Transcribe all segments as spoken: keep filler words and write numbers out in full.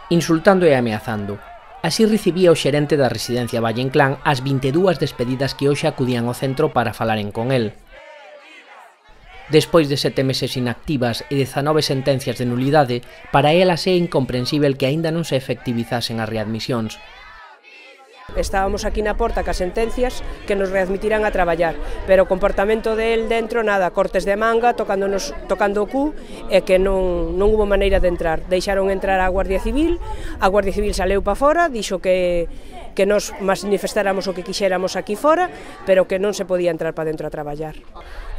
insultando e ameazando. Así recibía o xerente da residencia Valle Inclán as vinte e dúas despedidas que hoxe acudían ao centro para falaren con el. Despois de sete meses inactivas e dezanove sentencias de nulidade, para elas é incomprensível que aínda non se efectivizasen as readmisións. Estábamos aquí na porta cas sentencias que nos readmitirán a traballar, pero o comportamento del dentro, nada, cortes de manga, tocándonos, tocando o cu, e que non, non hubo maneira de entrar. Deixaron entrar a Guardia Civil, a Guardia Civil saleu para fora, dixo que, que nos manifestáramos o que quixéramos aquí fora, pero que non se podía entrar para dentro a traballar.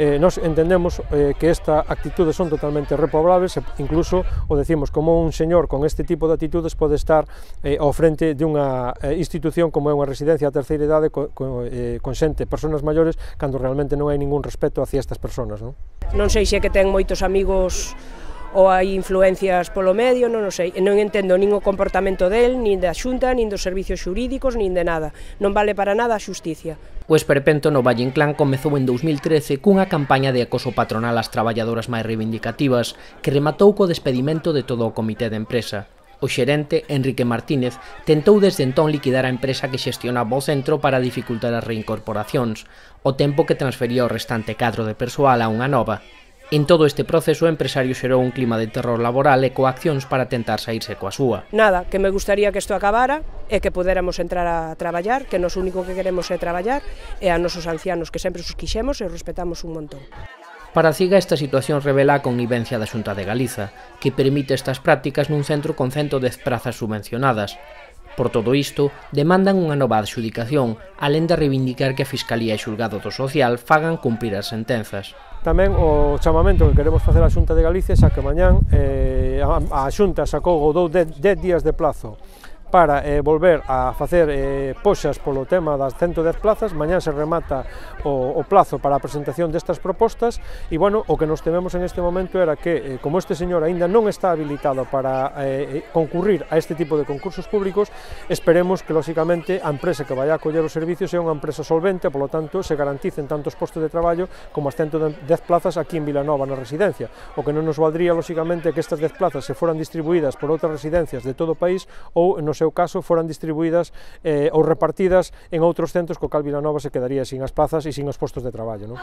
Eh, nos entendemos eh, que esta actitudes son totalmente reprobables, incluso o decimos como un señor con este tipo de actitudes pode estar eh, ao frente de unha eh, institución como é unha residencia a terceira idade co, co, eh, con xente, persoas maiores, cando realmente non hai ningún respeto hacia estas persoas, non? Non sei se é que ten moitos amigos ou hai influencias polo medio, non o sei, non entendo nin o comportamento del, nin da Xunta, nin dos servicios xurídicos, nin de nada. Non vale para nada a xusticia. O esperpento no Valle Inclán comezou en dous mil trece cunha campaña de acoso patronal ás traballadoras máis reivindicativas que rematou co despedimento de todo o comité de empresa. O xerente, Enrique Martínez, tentou desde entón liquidar a empresa que xestionaba o centro para dificultar as reincorporacións, o tempo que transfería o restante cadro de persoal a unha nova. En todo este proceso, o empresario xerou un clima de terror laboral e coaccións para tentar saírse coa súa. Nada, que me gustaría que isto acabara e que podéramos entrar a traballar, que nos único que queremos é traballar, e a nosos ancianos que sempre os quixemos e respetamos un montón. Para a CIGA, esta situación revela a connivencia da Xunta de Galiza, que permite estas prácticas nun centro con ciento dez prazas subvencionadas. Por todo isto, demandan unha nova adxudicación, alén de reivindicar que a Fiscalía e Xulgado do Social fagan cumprir as sentenzas. Tamén o chamamento que queremos facer á Xunta de Galicia xa que mañán eh, a, a Xunta sacou ou dou dez días de plazo para eh, volver a facer eh, poxas polo tema das ciento dez plazas. Mañán se remata o, o plazo para a presentación destas propostas e, bueno, o que nos tememos en este momento era que, eh, como este señor aínda non está habilitado para eh, concurrir a este tipo de concursos públicos, esperemos que, lóxicamente, a empresa que vai a acoller os servicios é unha empresa solvente, polo tanto, se garanticen tantos postos de traballo como as ciento dez plazas aquí en Vilanova na residencia. O que non nos valdría, lóxicamente, que estas dez plazas se foran distribuídas por outras residencias de todo o país ou, no seu caso, foran distribuídas eh, ou repartidas en outros centros, co cal Vilanova se quedaría sin as plazas e sin os postos de traballo, non?